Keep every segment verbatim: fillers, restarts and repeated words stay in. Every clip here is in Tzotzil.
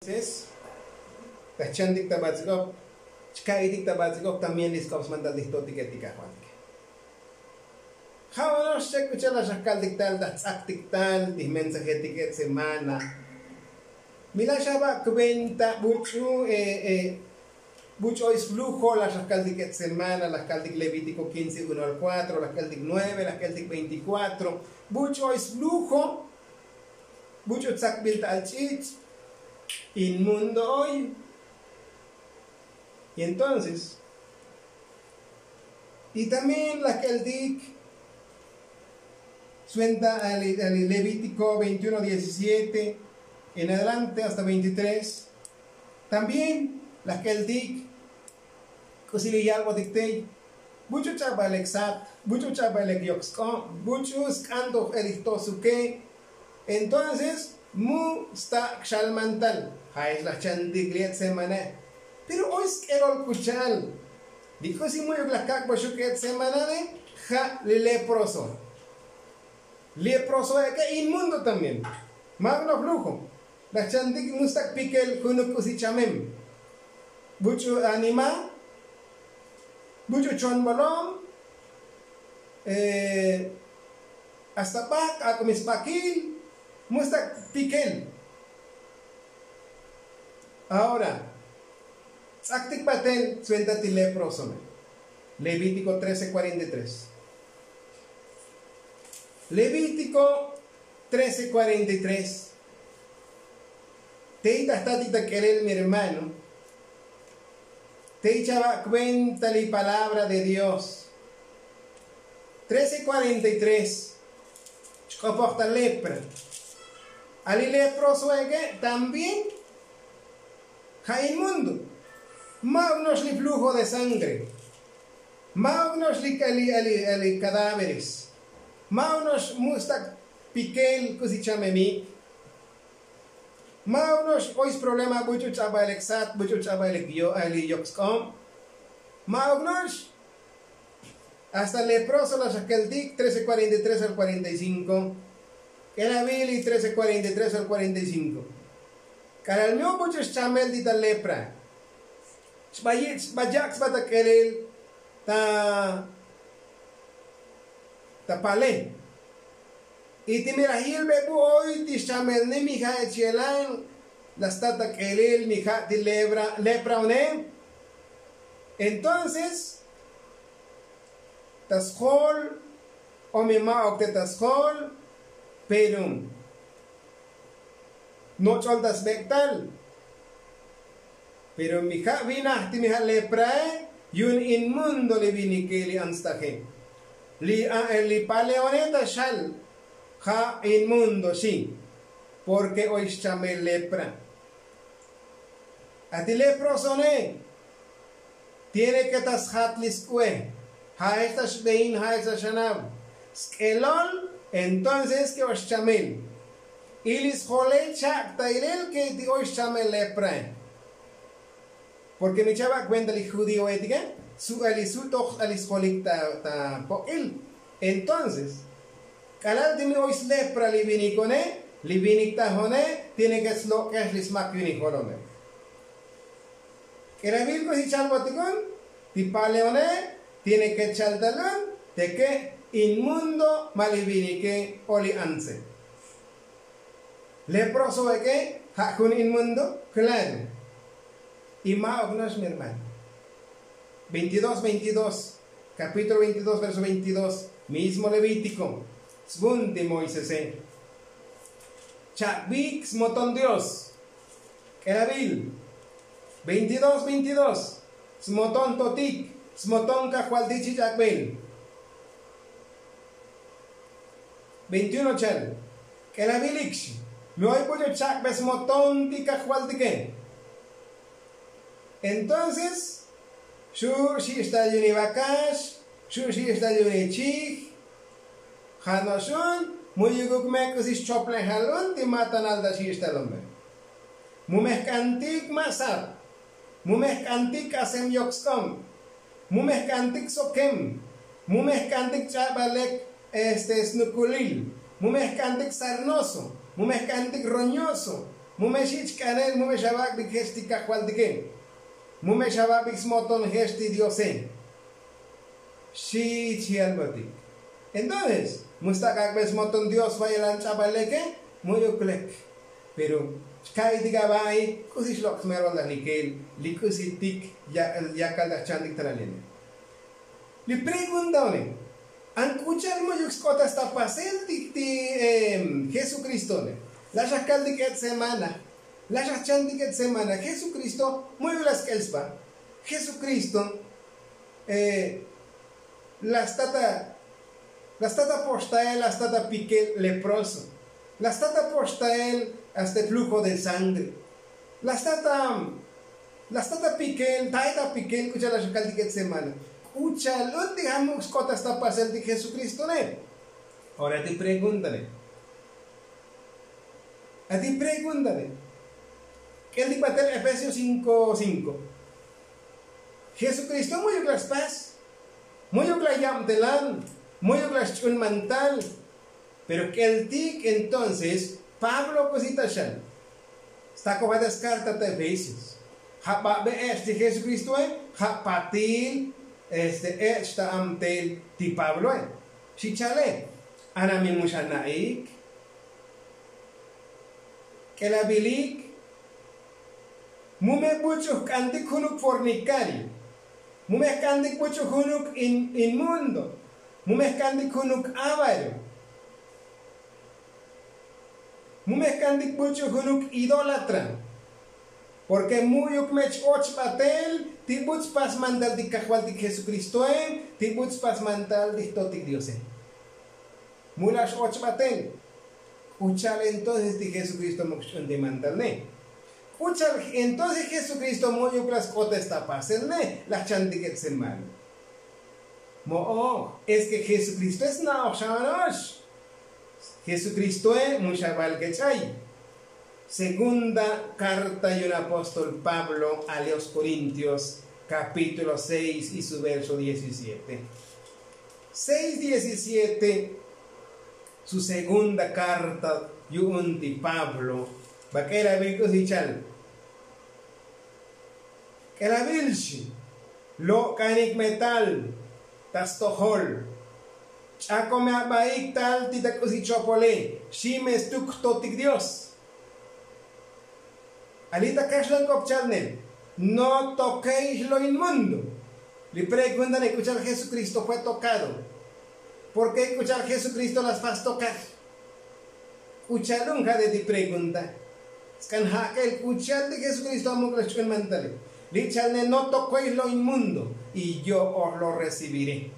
Entonces, ta chantik ta batz'ik'op, chka'itik ta batz'ik'op también li sk'op smantal ti jto'tike ti kajvaltike. Ja' ono'ox chek k'u cha'al la xajkaltik tal ta jtz'aktik tal ti jmensajetik et semana. Mi la xaba' kuenta buch'u buch'u oy sflujo la xajkaltik et semana la jkaltik levítiko quince uno al cuatro la jkaltik nueve la jkaltik veinticuatro. Buch'u oy sflujo buch'u tzakbil ta al ch'ich'. Inmundo oy. Y entonces y también la jkaltik suenta al levítiko veintiuno diecisiete en adelante hasta veintitrés. También la jkaltik k'usi li yalbotik tey buch'u ch'abal ek sat buch'u ch'abal ek yok sk'ob buch'u sk'an toj el ijtosuke. Entonces mu sta' kxalmantal ja' ex la jchantik li et semana. Pero oy sk'elol k'u cha'al li k'usi mu'yuk la jkak'boxuk et semana ne ja' li leproso. Leproso ek'e inmundo también. Ma'uk no flujo la jchantik mu sta' kpikel junuk k'usi chamem buch'u anima buch'u chonbolom hasta bak' ak'umi sbakil. Mu sta' kpikel. Ahora tz'aktik batel suenta ti leproso me. Levítiko trece cuarenta y tres. Levítiko trece cuarenta y tres. Tey ta jtatik ta k'elel mi hermano tey chaba' kuenta li palabra de dios. Trece cuarenta y tres. Chk'opoj ta lepra. Ali leproso eke' también ja' inmundo. Ma'uk no'ox li flujo de sangre. Ma'uk no'ox li cadáveres. Ma'uk no'ox mu' sta' pikel k'usi chamemik. Ma'uk no'ox oy sproblema buch'u ch'abal ek sat buch'u ch'abal ek li yok sk'ob. Ma'uk no'ox. Hasta leproso la xakeltik trece cuarenta y tres al cuarenta y cinco. K'elabil li trece cuarenta y tres al cuarenta y cinco. K'alal mi obuch'u xchamel ti ta lepra. Xbayak' sba ta k'elel ta ta pale. Y ti mi laj yilbe bu oy ti xchamelne mi ja' echelan la sta ta k'elel mi ja' ti lepra one. Entonces ta sjol o mi ma'uk te ta sjol pero noch'ol ta sbek'tal. Pero mi ja' vinaj ti mi ja' leprae yu'un inmundo li vinike li antstaje. Li paleone ta xal ja' inmundo xi. Porke oy xchamel lepra. A ti leprosone tiene ke ta sjat li sk'ue. Ja' ex ta xbein ja' ex ta xanab sk'elol. Entonces ke ox chamel y li sjolel chak' ta ilel ke ti oy xchamel leprae. Porke mi chaba' kuenta li judíoetike su'el li su'toj ta li sjolik ta pok'il. Entonces k'alal ti mi oy slepra li vinikone li vinik tajone tiene ke slok'ej li smak yu'un li jolome. K'elabil k'usi chalbotikon ti paleone tiene ke chaltalun teke inmundo ma li vinike o li antse. Leproso ek'e ja' jun inmundo. Klaro. Y ma'uk no'ox mi hermano. Veintidós veintidós. Kapítulo veintidós verso veintidós. Mismo levítiko svun ti moisese. Chak'bik smoton dios. K'elabil veintidós veintidós. Smoton totik smoton kajvaltik chi chak'bel. Veintiuno chal. K'elabil ikxi mi oy buch'u chak'be smoton ti kajvaltike. Entonces xu' xich' ta yu'un li vakax xu' xich' ta yu'un li chij. Ja' no' xun mu yukuk me k'usi xchoplejal un ti matanal ta xich' talombe. Mu me jk'antik ma' sat. Mu me jk'antik k'asem yok sk'ob. Mu me jk'antik sokem. Mu me jk'antik ch'abal lek este snukulil. Mu me jk'antik sarnoso. Mu me jk'antik roñoso. Mu me xich' k'anel mu me xavak'bik jech ti kajvaltike. Mu me xavak'bik smoton jech ti diose. Xich yalbotik. Entonces mu stak' ak'be smoton dios va'elan ch'abal leke. Mu'yuk lek. Pero xka'iytik ava'i k'usi xlok' smerol laj likel li k'usitik yakal laj chantik tanalene. Li pregunta one. An k'u cha'al mu'yuk sk'otas ta pasel ti ti jesucristone. La' xajkaltik et' semana. La' xajchantik et' semana jesucristo mu'yuk la sk'el sba. Jesucristo la stata la stata poxtael la stata pikel leproso. La stata poxtael hasta flujo de sangre. La stata la stata pikel taita pikel k'u cha'al la xakaltik et' semana. K'u cha'al un ti jamuk sk'otas ta pasel ti jesucristone. Ora ti preguntane. Ati preguntane. K'eltik batel efesio cinko cinko. Jesucristo mu'yuk la spas. Mu'yuk la yabtelan. Mu'yuk la xch'un mantal. Pero k'eltik entonces pablo k'usi ta xan. Stakojat ta skarta ta efesios. Ja' babe ech' ti jesukristoe. Ja' patil este ech' ta amtel ti pabloe. Xi chale. Anami mu xana'ik. K'elabilik. Mu me buch'u jk'antik junuk fornikario. Mu me jk'antik buch'u junuk inmundo. Mu me jk'antik junuk avario. Mu me jk'antik buch'u junuk idólatra. Porke mu'yuk me ch-och batel ti buts' spas mantal ti kajvaltik jesucristoe. Ti buts' spas mantal ti jtotik diose. Mu la x-och batel. K'u cha'al entonces ti jesucristo muk xch'un ti mantal ne. K'u cha'al entonces jesucristo mu'yuk la sk'otes ta pasel ne la jchantik et' semana. Mo'oj. Es ke jesucristoe sna'oj xa'ano'ox. Jesucristoe mu xaval kech'ay. Segunda karta yun apóstol pablo a los korintios kapítulo seis y su verso diecisiete. Seis diecisiete. Su segunda karta yu'un ti pablo. Bak'el abil k'usi chal. K'elabil xi. Lok'anik me tal ta stojol. Ch'ako me abaik tal ti ta k'usi chopole. Xi me stuk jtotik dios. Ali ta kaxlan k'op chalnel. No tokey xlo in mundo. Li pregunta ne k'u cha'al jesukristo fue tokado? Porke k'u cha'al jesukristo la spas tokar? K'u cha'al un ja' de ti pregunta. Sk'an ja' k'el k'u cha'al ti jesukristo amuk la xch'un mantale. Li' cha'al ne no tokey lo in mundo. Y yo oj lo recibire.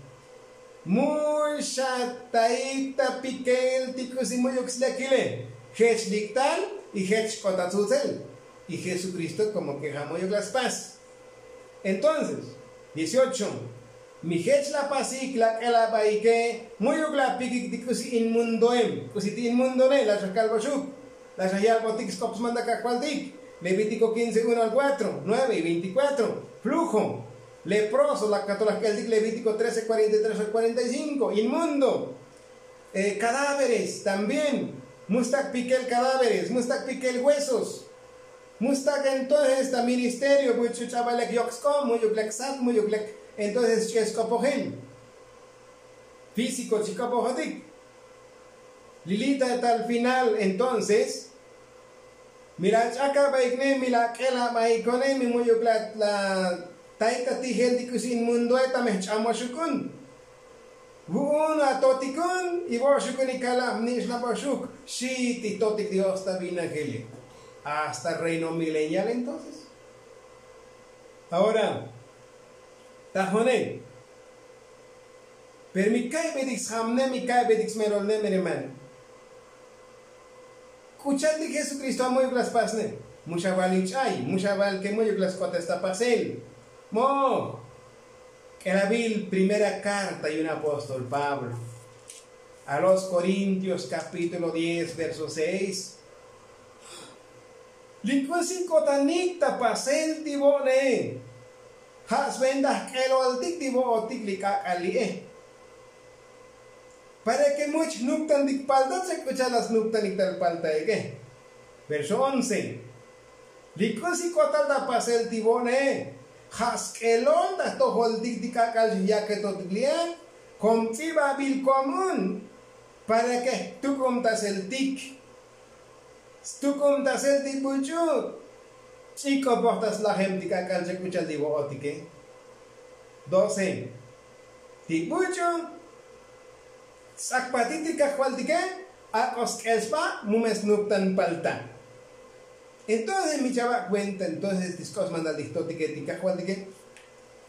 Mu xataik ta pikel ti k'usi mu'yuk slekile. Jech lik'tal y jech xk'ot ta tzutsel. Y jesukristo komo ke ja' mu'yuk la spas. Entonces dieciocho. Mi jech la pasik la k'elabaike. Mu'yuk la pikik ti k'usi in mundoem k'usi ti in mundone la xakalboxuk. La xayalbotik sk'op smanda kajvaltik. Levítiko quince uno al cuatro nueve y veinticuatro. Flujo. Leproso la katolaj k'eltik levítiko trece cuarenta y tres al cuarenta y cinco in mundo. Cadáveres también. Mu stak pikel cadáveres mu stak pikel huesos. Mu stak entonces ta ministerio buch'u ch'abal lek yok sk'ob mu'yuk lek sat mu'yuk lek. Entonces ch'e sk'opojel físiko chi k'opojotik. Lilita tal final entonces mi la ch'akabaikne mi la k'elabaikone mi mu'yuk la taik ta tijel ti k'usi in mundoe ta me jch'amoxuk un. Vu'un atotikun y vo'oxukun y kalab nix laboxuk. Xi ti totik dios ta vinajele. Hasta reino milenial entonces. Ahora ta jone. Pero mi ka'ybetik sjamne mi ka'ybetik smerolne mi hermano. K'u cha'al ti jesukristo amu'yuk la spasne? Mu xaval ich'ay mu xaval ke mu'yuk la sk'otes ta pasel. Mo k'elabil primera karta yun apóstol pablo a los korintios kapítulo diez verso seis. Li k'usi k'otanik ta pasel ti vo'ne. Ja' sventa jk'eloltik ti vo'otik li k'ak'al li'e. Para ke much jnuptantik palta tse k'u cha'al la snuptanik tal paltaike. Verso once. Li k'usi k'otal ta pasel ti vo'ne ja' sk'elol ta jtojoltik ti k'ak'al xijyaketotik li'e. Kom ts'ibabil komun para ke jtuk'umtaseltik. Stuk'umtasel ti buch'u ch'ik'opoj ta slajem ti k'ak'al chek k'u cha'al ti vo'otike. Doce. Ti buch'u ts'akpatik ti kajvaltike ak'o sk'el sba mu me snuptan palta. Entonces mi chava' cuenta entonces ti sk'op smantal ti jtotike ti kajvaltike.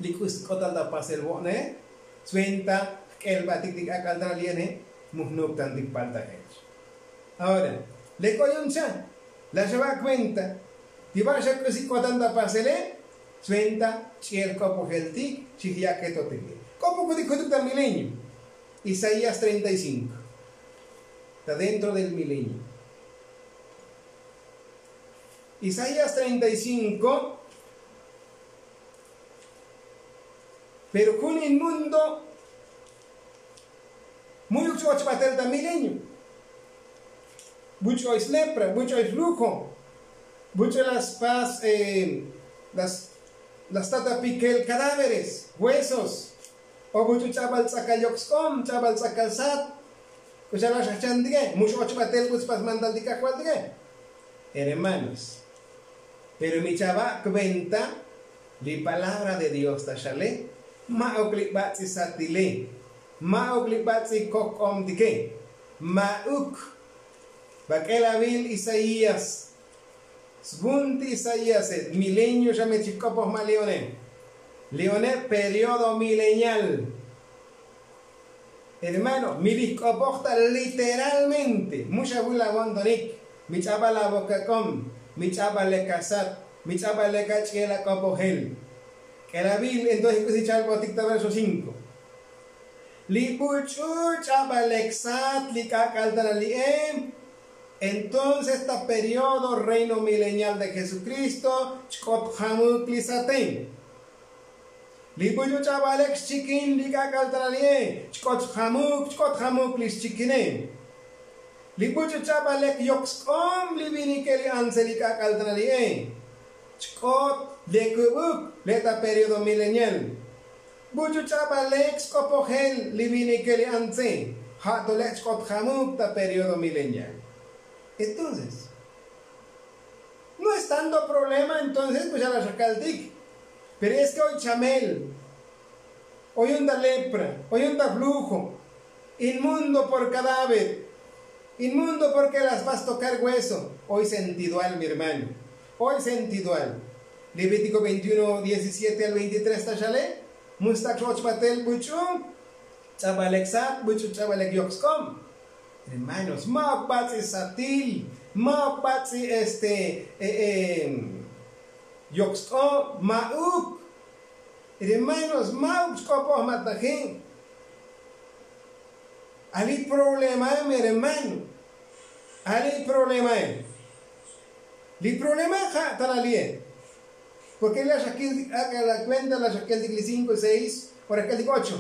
Li k'usi k'otal ta pasel vo'ne sventa jk'elbatik ti k'ak'al ta li'ene mu jnuptantik palta jech. Ahora lek oy un cha' la xava' cuenta ti ba' xa k'usi k'otal ta pasele sventa ch'iel k'opojeltik xijyaketotik. K'opokutik jutuk ta milenio. Isaías treinta y cinco. Ta dentro del milenio. Isaías treinta y cinco. Pero jun in mundo mu'yuk ch'och batel ta milenio. Buch'oy slepra, buch'oy slujo, buch'oy las pas las tatapikel cadáveres, huesos. O buch'u ch'abal tz'akal yok sk'om, ch'abal tz'akal sat. K'u xa la xajchantike mu x'och batel buts pas mantal ti kajvaltike. Hermanos, pero mi chava' cuenta li palabra de dios ta xale. Ma'uk li bats'i satile, ma'uk li bats'i kojk'omtike. Ma'uk. Bak'elavil isaías. Svun ti isaíase milenio xa me chik'opoj ma' li'one. Li'one periodo milenial. Hermano, mi lijk'opoj ta literalmente mu xa vul avo'ntonik. Mi ch'abal avokak'om, mi ch'abal lek asat, mi ch'abal lek ach'iel ak'opojel. K'elavil entonces k'usi chalbotik ta verso cinco. Li buch'u ch'abal lek sat li k'ak'al tana li'e. Entonces ta periodo reino milenial de jesukristo chk'ot jamuk li sate. Li buch'u ch'abal lek xchikin li k'ak'al tana li'e chk'ot jamuk chk'ot jamuk li xchikine. Li buch'u ch'abal lek yok sk'om li vinike li antse li k'ak'al tana li'e chk'ot lekubuk le' ta periodo milenial. Buch'u ch'abal lek sk'opojel li vinike li antse ja' to lek chk'ot jamuk ta periodo milenial. Entonces no es tanto problema entonces k'u xa la xakaltik. Pero es ke oy chamel, oy un ta lepra, oy un ta flujo, inmundo por cadáver, inmundo porke las vas tocar hueso. Oy sentidual mi hermano. Oy sentidual. Levítico veintiuno diecisiete al veintitres ta xale. Mustak x'och batel buch'u ch'abal lek sat buch'u ch'abal lek yok sk'om. Hermanos, ma'uk bats'i satil, ma'uk bats'i este yok sk'om ma'uk. Hermanos, ma'uk chk'opoj ma' taje. Ali problemae mi hermano. Ali problemae. Li problemae ja' tana li'e. Porke la xakiltik ak'a la kuenta la xakiltik li cinko seis o la xakiltik ocho.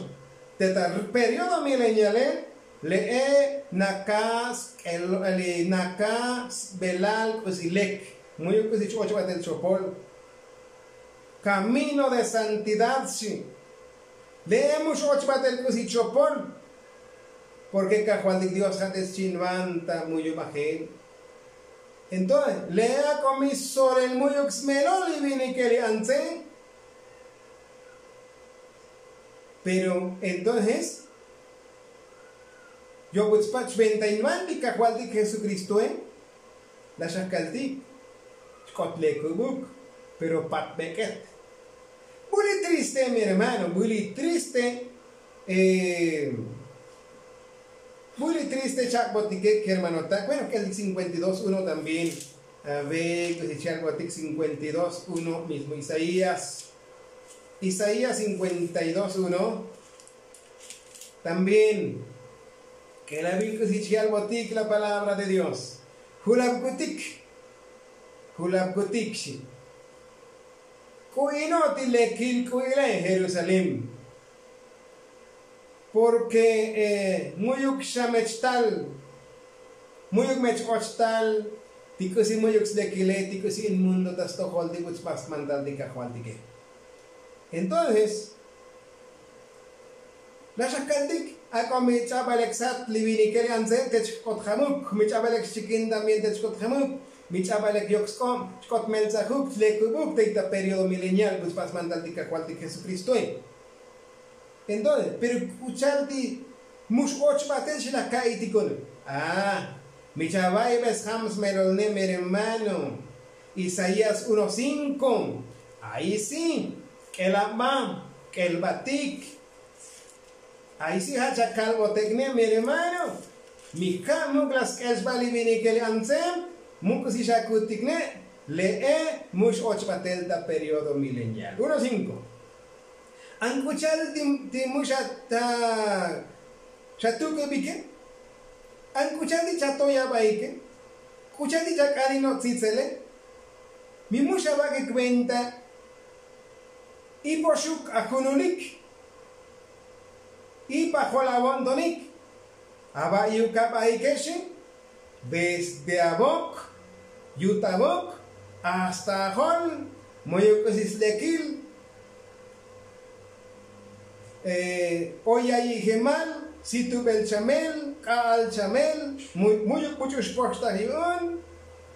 Te ta periodo mileniale le'e naka sk'el li naka sbelal k'usi lek. Mu'yuk k'usi ch'och batel chopol. Kamino de santidad xi. Le'e mu x'och batel k'usi chopol. Porke kajvaltik dios ja' te schinvan ta mu'yuk bajel. Entonces le'e ak'o mi sorel mu'yuk smelol li vinike li antse. Pero entonces yobuts pach venta invan ti kajvaltik jesukristoe. La xakaltik chk'ot lekubuk pero pat bek'et. Buli triste mi hermano, buli triste. Buli triste chak'botike kermanotak bueno k'eltik cinkuenta y dos uno también. Ave k'usi chak'botik cinkuenta y dos uno mismo isaías. Isaías cinkuenta y dos uno. También k'elavil k'usi chjalbotik la palabra de dios. Julabkutik julabkutik xi. K'u'ino' ti lekil k'u'ile jerusalén. Porke mu'yuk xa mech tal mu'yuk mech och tal. Ti k'usi mu'yuk slekile ti k'usi in mundo ta stojol ti k'usi pa smantal ti kajvaltike. Entonces la xakaltik ak'o mi ch'abalek sat li vinike li antse te chk'ot jamuk mi ch'abalek xchikin también te chk'ot jamuk mi ch'abalek yok sk'ob chk'ot meltsajuk chlekubuk te ta periodo milenial k'usi pa smantal ti kajvaltik jesukristoe. Entonces pero k'u cha'al ti mux och batel xi laj ka'iy ti k'un. A mi chava'ibes jam smelolne mi hermano. Isaías uno cinko. Ayi si k'el aba k'el batik. Ayi si ja' chakalbotekne mi hermano. Mi ja' muk' la sk'el xba li vinike li antseb muk' si xakutikne. Le'e mux och batel ta periodo milenial uno cinko. An k'u cha'al ti mu' xatukubike? An k'u cha'al ti chatoyabaike? K'u cha'al ti chak'alino' tzitsele? Mi mu' xabak'ik venta. Ipoxuk ajunulik. Ipajol avo'ntonik. Aba' yukabaike xi. Desde avok yut avok hasta ajol. Mu'yuk k'usi slekil. Oy yayijemal situbel chamel k'a'al chamel. Mu'yuk buch'u xpoxtaj yu'un.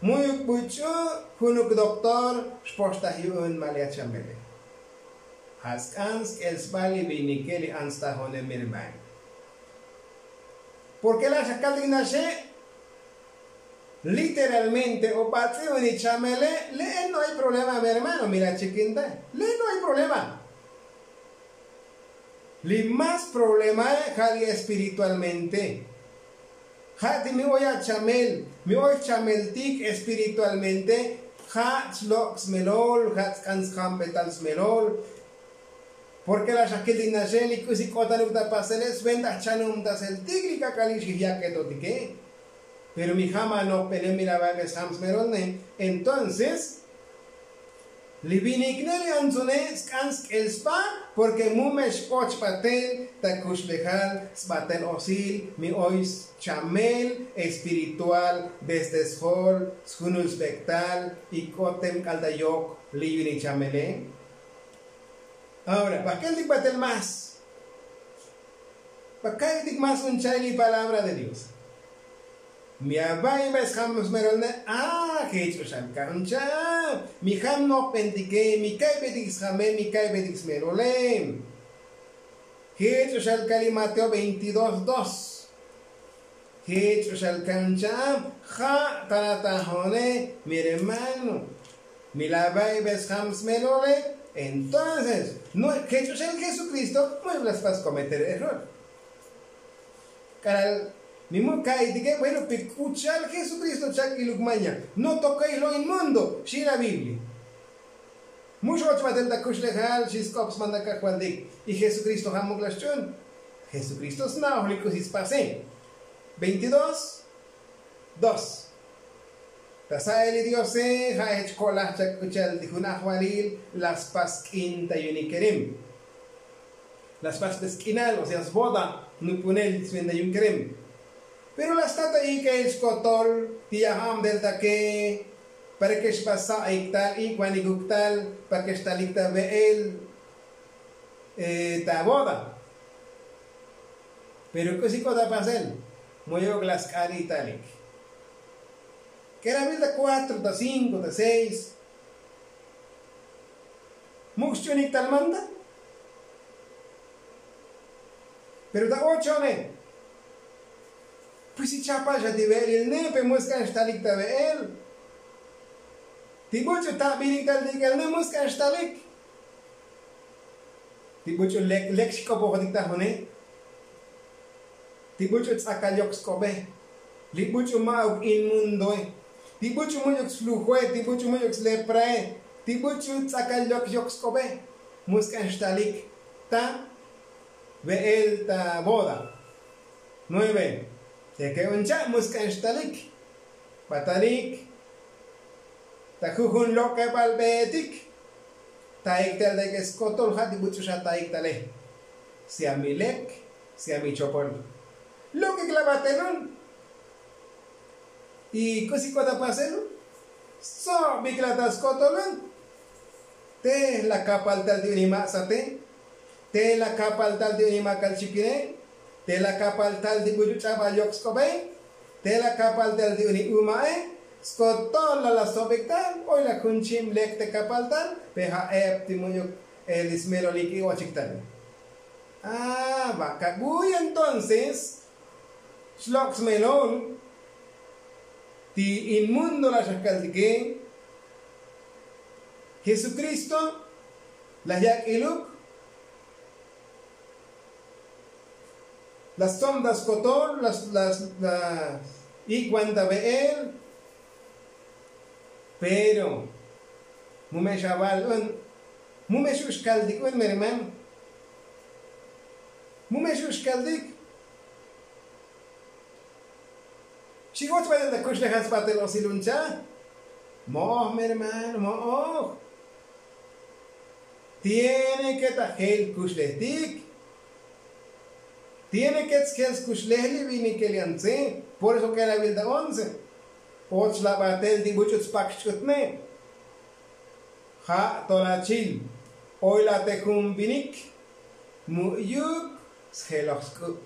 Mu'yuk buch'u junuk doktor xpoxtaj yu'un ma' li achamele. Ja' sk'an sk'el sba li vinike li an stajone mi hermano. Porke la' xakaltik naxe literalmente o batz'i uni chamele. Le'e no ay problema mi hermano mi la chikinta. Le'e no ay problema. Li mas problemae ja' li espiritualmente. Ja' ti mi oy achamel mi oy chameltik espiritualmente. Ja' chlok' smelol ja' tsk'an sjambetal smelol. Porke la' xakil ti naxe li k'usi k'otanuk ta pasele sventa jchanumtaseltik li k'ak'alik xijyak'etotike. Pero mi jam anojbene mi la' va'ibes jam smelolne. Entonces li vinikne li antsune sk'an sk'el sba. Porke mu me x'och batel ta kuxlejal sbatel osil mi oy schamel espiritual desde sjol sjunul sbek'tal. Y k'ot tem k'al ta yok li yu'unik chamele. Ahora ba keltik batel más? Ba ka'itik más un cha'il li palabra de dios. Mi ava'ibe sjam smerolne a jech' uxal ka'un cha'ab. Mi jam nojbentike mi ka'ibetik sjame mi ka'ibetik smerole. Jech' uxal ka li mateo veintidós dos. Jech' uxal ka'un cha'ab ja' tanatajone mi hermano. Mi la va'ibe sjam smelole. Entonces jech' uxal jesukristo mu'yuk la spas kometer error. K'alal mi mu' ka'itike bueno pe k'u cha'al jesukristo chak'iluk maña. No toka'ij lo' in mundo xi la biblia. Mu x'och batel ta kuxlejal xi sk'op smantal kajvaltik. Y jesukristo ja' muk la xch'un. Jesukristo sna'oj li k'usi spase. Veintidós dos. Ta sa'el li diose ja' jech ko'laj chak k'u cha'al ti jun ajvalil la spas sk'in ta yu'unik kerem. La spas ta sk'inal o sea sboda nupunel sventa yu'un kerem. Pero la sta ta ik'el skotol ti yajab del take para ke xba sa'ik tal ik'vanikuk tal para ke xtalik ta ve'el ta boda. Pero k'usi k'ot apasel? Moyok la sk'an italik. K'erabil ta kuatro ta cinko ta seis. Muk xch'unik tal manta. Pero ta ochone pues si chapal xa ti ve'elilne pe mu sk'an xtalik ta ve'el. Ti buch'u tabinik tal ti ik'elne mu sk'an xtalik. Ti buch'u lek lek xk'opojotik ta june. Ti buch'u tz'akal yok sk'obe. Li buch'u ma'uk in mundoe. Ti buch'u mu'yuk sflujoe ti buch'u mu'yuk sleprae. Ti buch'u tz'akal yok yok sk'obe. Mu sk'an xtalik ta ve'el ta boda. Nueve. Teke un cha' mu sk'an xtalik. Batanik ta jujun lok'ebal be'etik. Taik tal ta ik'e skotol ja' ti buch'u xa taik tale. Sea mi lek sea mi chopol. Lok'ik la batelun. Y k'usi k'ot apasel? Stsobik la ta skotolun. Te la kapal tal ti uni maksate, te la kapal tal ti uni makal chikine, te la kapal tal ti buchu ch'abal yok sk'obe, te la kapal tal ti uni umae. Skotol la la stsobik tal. Oy la jun chim lek te kapal tal, pe ja' ep ti mu'yuk li smelolik i ochik tal. A ba kabuy entonces xlok' smelol ti in mundo la xajkaltike. Jesukristo la yak' iluk, la stsom ta skotol, la la la ik'wan ta be'el. Pero mu me xaval un, mu me xu' xkaltik un mi hermano. Mu me xu' xkaltik. Xi och batel ta kuxlejal sbatel osil un cha'. Mo'oj mi hermano, mo'oj. Tiene ke ta jel kuxlejtik. Tiene ke tsjel skuxlej li vinikel yan tze. Por eso k'elabil ta once. Och la batel ti buch'ut spak xch'utne. Ja' to la chil oy la te jun vinik mu'yuk sjeloj sk'u'.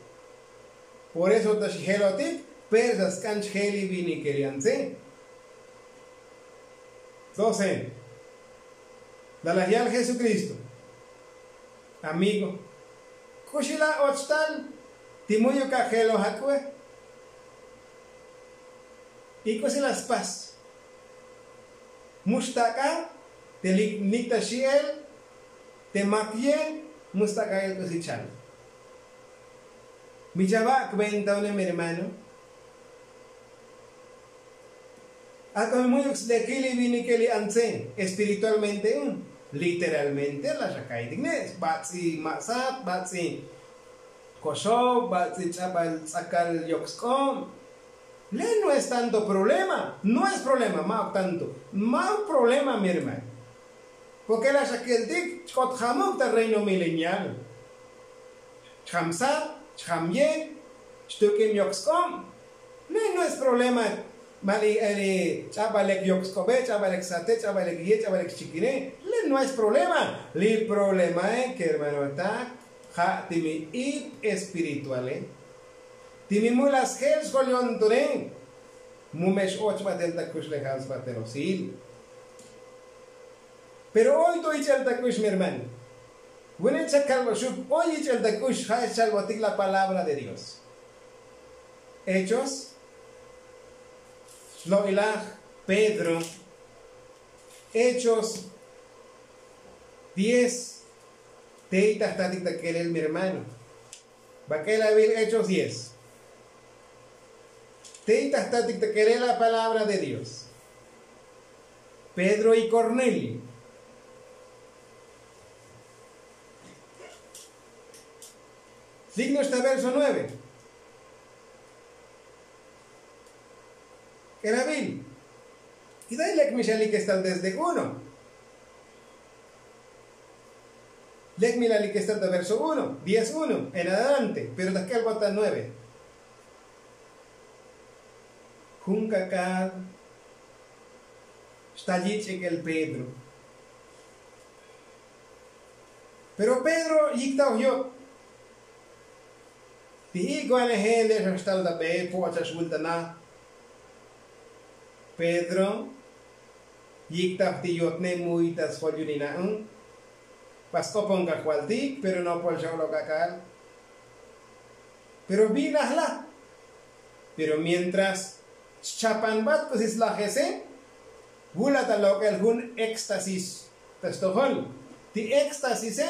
Por eso ta xjelotik, persa sk'an chjel li vinikel yan tze. Doce. La laj yal jesukristo, amigo, k'uxi la och tal ti mu'yuk ajeloj ak'ue? Y k'usi la spas? Mu xtak'a te lik nik' ta xi'el, te mak ye, mu xtak'a el k'usi chal. Mi chava' kventa une mi hermano. Ak'o mi mu'yuk slekil li vinikel li antze espiritualmente un, literalmente la xakaitik ne' bats'i ma'sat, bats'i koxob, bats'i ch'abal ts'akal yok sk'ob. Le' no es tanto problema. No es problema, ma'uk tanto, ma'uk problema mi hermano. Porke la xakeltik chk'ot jamuk ta reino milenial. Chjam sat, chjam ye, chtuk'ib yok sk'ob. Le' no es problema. Mali ch'abal lek yok sk'obe, ch'abal lek sate, ch'abal lek ye, ch'abal lek chikine. Le' no es problema. Li problemae kermanotak, ja' ti mi ib espirituale, ti mi mu la sjel xjol yontone. Mu me x'och batel ta kuxlejal sbatel osil. Pero oy to ich'el ta k'ux mi hermano. Vune' chakalboxuk oy ich'el ta k'ux ja' xchalbotik la palabra de dios. Hechos, lo'ilaj pedro. Hechos diez. Tey ta jtatik ta kelel mi hermano. Bak'el avil hechos diez. Tey ta jtatik ta kelel la palabra de dios. Pedro y kornelio. Slik no'ox ta verso nueve. K'elavil. Y day lek mi xalik estal desde uno. Lek mi lalik estal ta verso uno, diez uno en adelante, pero ta k'elbot ta nueve. Jun kak'al xtal yich'ik el pedro. Pero pedro yikta oj yob. Ti ik'o anejel le' xa xtal ta be po'ot xa xvul ta na. Pedro yikta oj ti yotne muy ta sjol yunina'un. Ba sk'opon kajvaltik pero nopol xa olok ak'al. Pero vinaj la. Pero mientras xchapanbat k'usi slajese, vul la ta lok'el jun éxtasis ta stojol. Ti éxtasise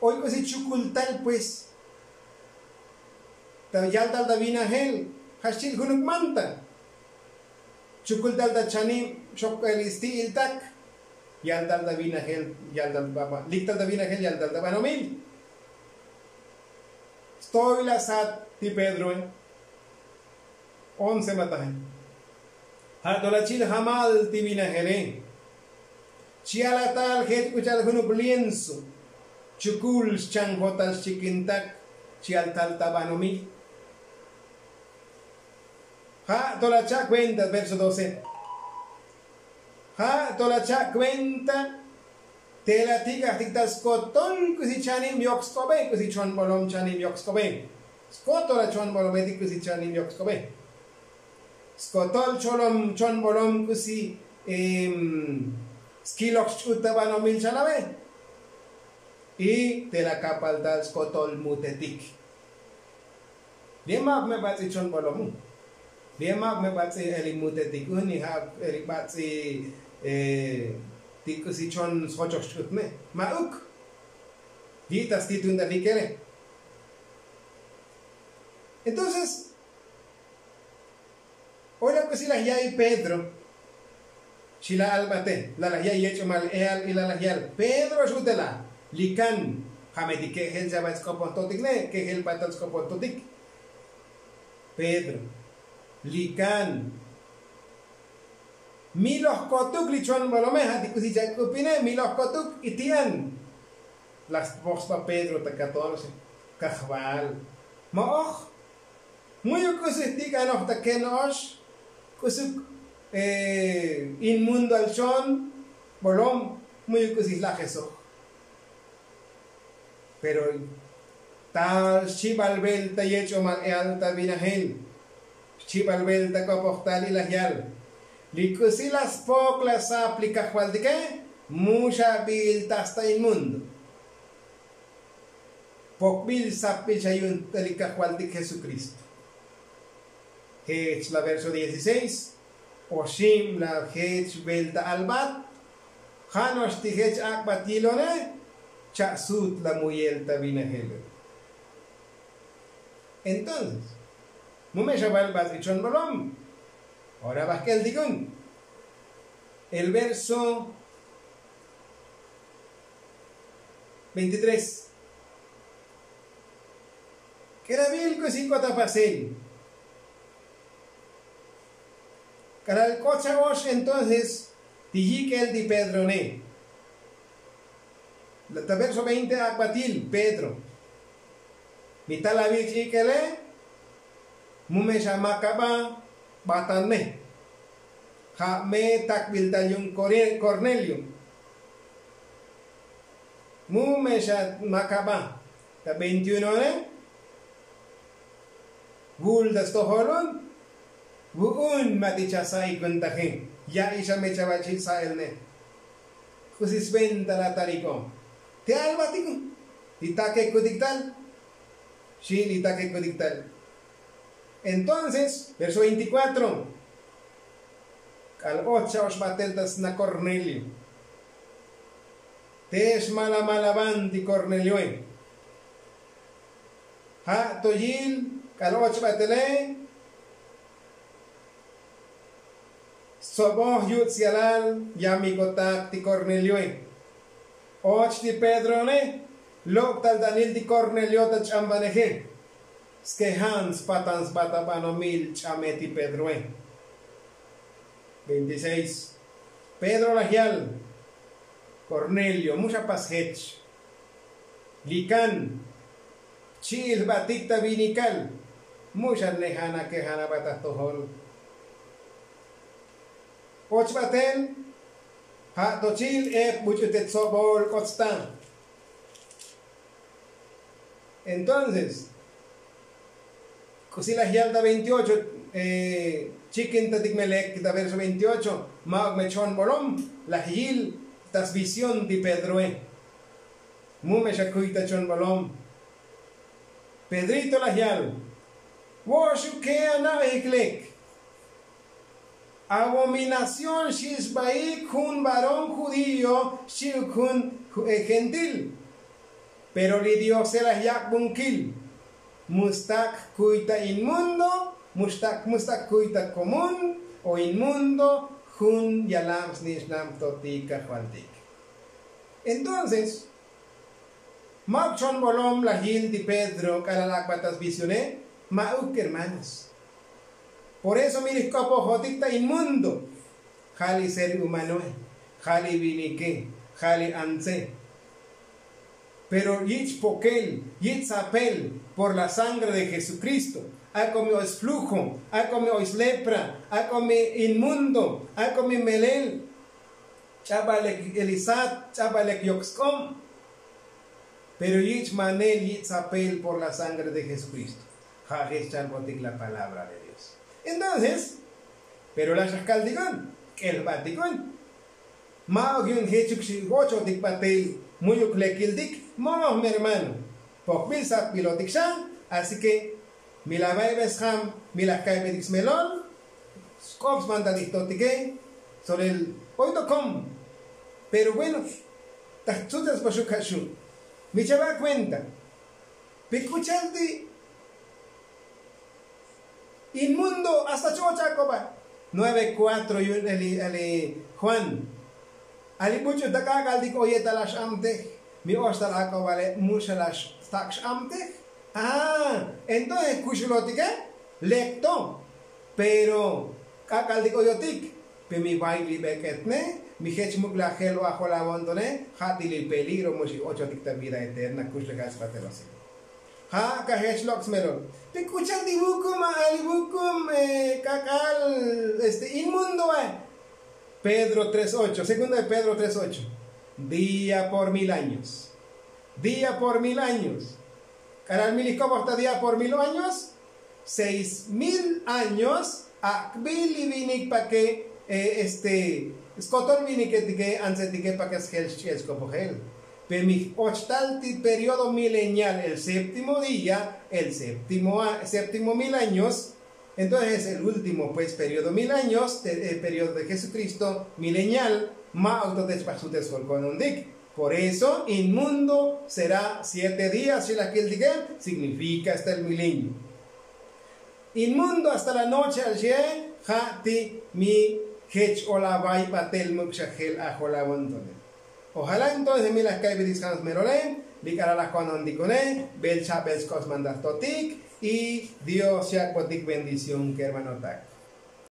oy k'usi chukultal pues. Ta yaltal ta vinajel ja' xchil junuk manta. Chukultal ta chanib xokbel isti'iltak. Yaltal ta vinajel, yaltal ta banomil. Stoy la sat ti pedroe. Once mataje. Ja' to la chil jamal ti vinajele. Chi alatal jech k'u cha'al junuk lienso chukul xchanjotal xchikintak. Chi altal ta banomil. Ja' to la cha' kuenta verso doce. Ja' to la cha' kuenta te la tik'ajtik ta skotol k'usi chanib yok sk'obe k'usi chon bolom chanib yok sk'obe. Skotol la chon bolometik k'usi chanib yok sk'obe. Skotol cholom chon bolom k'usi skiloj xch'ut ta banomil chalabe. Y te la kapal tal skotol mutetik. Li' ma'uk me bats'i chon bolomu. Li' ma'uk me bats'i eli mutetik uni ja' eli bats'i ti k'usi chon sjochox ch'utne. Ma'uk. Li' ta stituntal li' kele. Entonces ora k'usi laj ya'i pedro. Xi la albate la laj ya'i yech'omal eal y la laj yal pedro xutela. Li kan ja' me ti ke'jel chaba sk'opon totik ne ke'jel batal sk'opon totik. Pedro li kan mi loj kotuk li chon bolome ja' ti k'usi chak'upine mi loj kotuk y ti'an. La spoj sba pedro ta katorce. Kajval mo'oj muyu k'usi jtik'anoj ta keno'ox k'usuk inmundoal chon bolom muyu k'usi jlajesoj. Pero ta xchibal velta yech'omal eal ta vinajel xchibal velta k'opojtal y laj yal li k'usi la spok la sap li kajvaltike. Mu xabil ta sta inmundo. Pokbil sapbil xa yu'un ta li kajvaltik jesukristo. Jech la verso dieciseis oxib la jech velta albat. Ja' no'ox ti jech ak'bat yilone. Cha'sut la muyel ta vinajel. Entonces mu me xa bal bats'i chon bolom. Ora bajk'el tikun el verso veintitrés. K'eravil k'usi k'ot apasel. K'alal k'ot xa ox entonces ti yik'el ti pedrone. Ta verso veinte ak'batil pedro. Mi tal avich ik'ele. Mu me xa makaba batan me. Ja' me takbil tal yu'un kornelio. Mu me xa makaba ta veintiuno ore. Vul ta stojol un. Vu'un ma ti chasa'ik un taji. Ya'i xa me chava chi' sa'el ne. K'usi sventa la taliko. Te albatiko. Li takekutik tal. Xi' li takekutik tal. Entonces verso veinticuatro. K'al och xa ox batel ta sna kornelio. Te xmala malaban ti kornelioe. Ja' to yil k'al och batele. Stsoboj yutz yalal yamikotak ti kornelioe. Och ti pedrone. Lok' tal danil ti kornelio ta ch'ambaneje. Skejan spatan sba ta banomil ch'ame ti pedroe. Veintiseis. Pedro laj yal. Kornelio mu xa pas jech. Li kan. Chi'il jbatik ta vinikal. Mu xa nejana kejana ba ta jtojol. Och batel. Ja' to chi'il ep buch'u te tsobol k'ot sta. Entonces k'usi laj yal ta veintiocho. Chikintatik me lek ta verso veintiocho. Ma'uk me chon bolom laj yil ta svision ti pedroe. Mu me xa kuy ta chon bolom. Pedrito laj yal. Vo'oxuke ana'ojik lek. Abominación xi' sbaik jun varón judío xchi'uk jun gentil. Pero li diose laj yak'bunkil. Mu stak' kuy ta inmundo. Mu stak' kuy ta komún o inmundo. Jun yalab snich'nab to ti kajvaltik. Entonces ma'uk chon bolom laj yil ti pedro k'alal ak'bat ta svisionej. Ma'uk hermanos. Por eso mi li jk'opojotik ta inmundo. Ja' li ser humanoe. Ja' li vinike. Ja' li antse. Pero yich' pokel yich' sapel por la sangre de jesukristo. Ak'o mi oy sflujo. Ak'o mi oy slepra. Ak'o mi inmundo. Ak'o mi melel. Ch'abalek elisat, ch'abalek yok sk'ob. Pero yich' manel yich' sapel por la sangre de jesukristo. Ja' jech chalbotik la palabra de dios. Entonces, pero laxaj kaltikon k'elbatikon. Ma'ok yu'un jechuk xi ochotik batel mu'yuk lekiltik. Moj mi hermano, pokbil satbilotik xa. Así ke mi la baybesjam, mi la kaybetik smelol. Sk'op smantatik totike. Solel oy tokom. Pero bueno, ta jtzutzes poxuk ja' xu'. Mi chaba' kuenta. Pi k'uchal ti' inmundo hasta cho'och ak'oba. Nueve kuatro yu'un ali ali juan. Ali buch'u ta k'ak'altik oye ta lax amtej. Mi oxtal ak'obale' muxalax stak' x'amtej. Ah, entonces kuxulotike. Lekto. Pero k'ak'altik oyotik. Pe mi bay li bek'etne. Mi jech muk' la jel o ajol awontone. Ja' ti li peligro muxi ochotik ta vida eterna kuxlejal spatelosik. Ja' kajech lok' smelol. Pe k'uchal ti vukum ali vukum k'ak'al este inmundoe. Pedro tres ocho segunda de pedro tres ocho. Día por mil años. Día por mil años. K'alal mi li koboj ta día por mil años. Seis mil años. Ak'bil li vinik pa ke este skoton viniketike antsetike pa ke sjel xch'el skopojel. Pe mi ochtal ti periodo milenial el séptimo día el séptimo mil años. Entonces el último pues periodo mil años el periodo de jesukristo milenial. Ma'ok to te chbaj sutes jolkonontik. Por eso inmundo será siete días xilakiltike. Signifika hasta el milenio. Inmundo hasta la noche al xie. Ja' ti mi jech ola bay batel muk' xa jel ajol awontone. Ojala entonces mi laj kaybetik sjam smelole. Li k'alal laj konontikune bel chabel sk'op smantaj totik. Y dios xyak'botik bendición kermanotak.